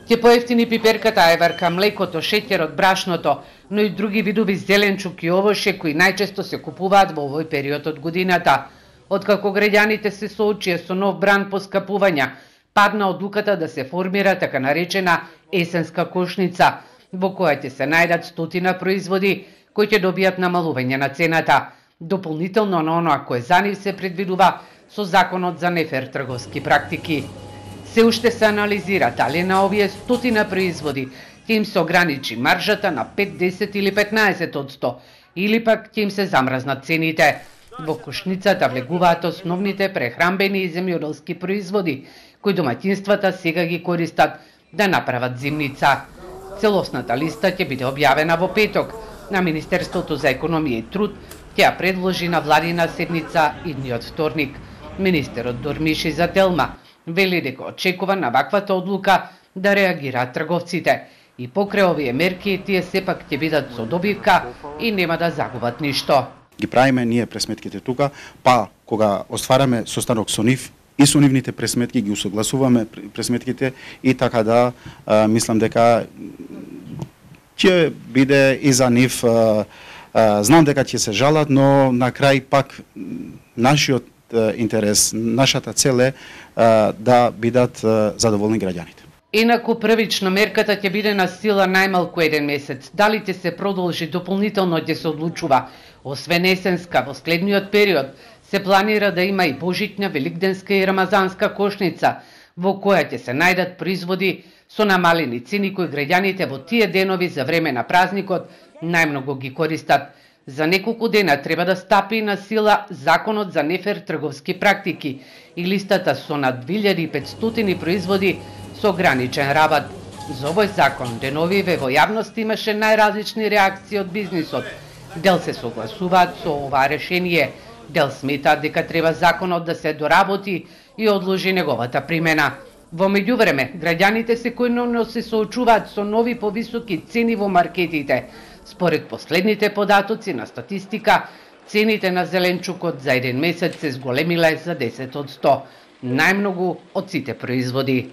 Ќе поевтини пиперката, ајварка, млекото, шеќерот, брашното, но и други видови зеленчук и овоше кои најчесто се купуваат во овој период од годината. Откако граѓаните се соочија со нов бран поскапувања, падна одлуката да се формира така наречена есенска кошница, во која ќе се најдат стотина производи кои ќе добијат намалување на цената, дополнително на оноа кое за нив се предвидува со Законот за нефер трговски практики. Се уште се анализира дали на овие стотина производи ќе им се ограничи маржата на 5, 10 или 15%, или пак ќе им се замразнат цените. Во кошницата влегуваат основните прехранбени и земјоделски производи, кои домаќинствата сега ги користат да направат зимница. Целосната листа ќе биде објавена во петок, на Министерството за економија и труд ќе ја предложи на владина седница идниот вторник. Министерот Дормиши за Телма вели дека очекува на ваквата одлука да реагираат трговците и покрај овие мерки тие сепак ќе бидат со добивка и нема да загубат ништо. Ги правиме ние пресметките тука, па кога оствараме состанок со нив и со нивните пресметки ги усогласуваме пресметките и така да мислам дека ќе биде и за нив. Знам дека ќе се жалат, но на крај пак нашиот интерес, нашата цел е да бидат задоволни граѓаните. Инаку првично мерката ќе биде на сила најмалку 1 месец. Дали ќе се продолжи дополнително ќе се одлучува. Освен есенска, во следниот период се планира да има и божитна, великденска и рамазанска кошница, во која ќе се најдат производи со намалени цени кои граѓаните во тие денови за време на празникот најмногу ги користат. За неколку дена треба да стапи на сила Законот за нефер трговски практики и листата со над 2500 производи со ограничен рабат. За овој закон деновиве во јавност имаше најразлични реакции од бизнисот. Дел се согласуваат со ова решение, дел сметаат дека треба законот да се доработи и одложи неговата примена. Во меѓувреме, граѓаните секојдневно се соочуваат со нови повисоки цени во маркетите. Според последните податоци на статистика, цените на зеленчукот за 1 месец се зголемиле за 10%, најмногу од сите производи.